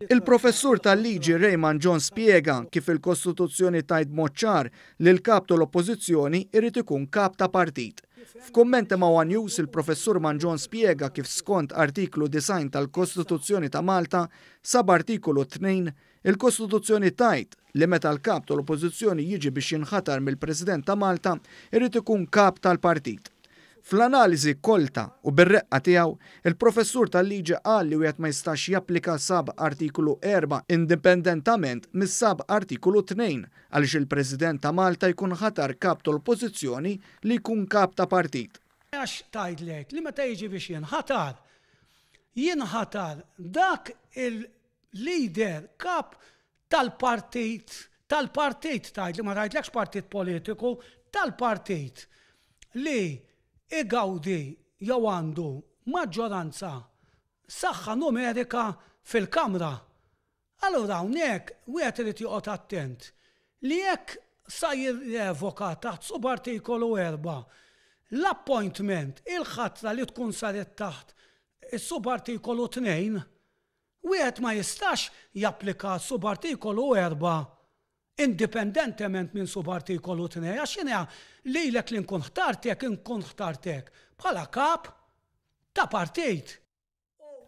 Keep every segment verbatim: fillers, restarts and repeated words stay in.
Il-professur tal-liġi Ray Mangion spjega kif il-Kostituzzjoni tgħid b'mod ċar li l-kap tal-Oppożizzjoni irid ikun kap ta' partit. F'kummenti ma' One News, il-professur Mangion spjega kif skont artiklu disgħin tal-Kostituzzjoni ta' Malta, sub artikolu tnejn, il-Kostituzzjoni tgħid li meta l-kap tal-Oppożizzjoni jiġi biex jinħatar mill-President ta' Malta, irid ikun kap tal-partit. Fl-analiżi kolta u bir-reqqa tiegħu, il-professur tal-liġi qal li wieħed ma jistax japplika sub artikolu erbgħa indipendentament mis-sub artikolu tnejn għaliex il-President ta' Malta jkun ħatar kap tal-Oppożizzjoni li jkun kap ta' partit. Għax tgħidlek li meta jiġi biex jinħatar, jinħatar dak il-leader kap tal-partit, tal-partit tgħid li ma tgħidlekx partit politiku, tal-partit li igawdi jew għandu maġġoranza saħħa numerika fil-Kamra. Allura hawnhekk wieħed irid joqgħod attent li jekk sa jirrevoka taħt subartikolu erbgħa l-appointment, il-ħatra li tkun saret taħt is-subartikolu tnejn, wieħed ma jistax japplika subartikolu erbgħa indipendentement minn subartikolu tnejn, għax jiena lilek li nkun ħtartek, nkun ħtartek bħala kap ta' partit.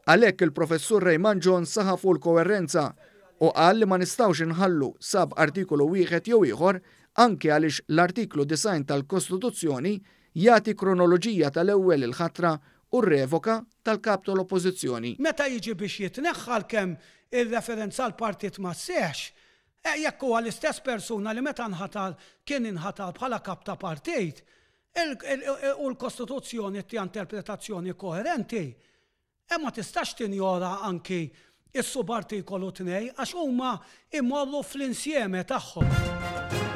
Għalhekk il-professur Ray Mangion saħaq fuq l-koerenza u qal li ma nistgħux inħallu sub artikolu wieħed jew ieħor, anke għaliex l-artiklu disgħin tal-Kostituzzjoni jagħti kronoloġija tal-ewwel il-ħatra u r-revoka tal-kap tal-Oppożizzjoni. Meta jiġi biex jitneħħal kemm il-referenza għal partit ma sseħx, e, jekk huwa l-istess persuna li meta nħatar kien inħatar bħala kap ta' partit, u l-Kostituzzjoni ti interpretazzjoni koerenti, e ma tistax tinjora anki is-subartikolu tnejn għax huma imorru fl-insieme tagħhom.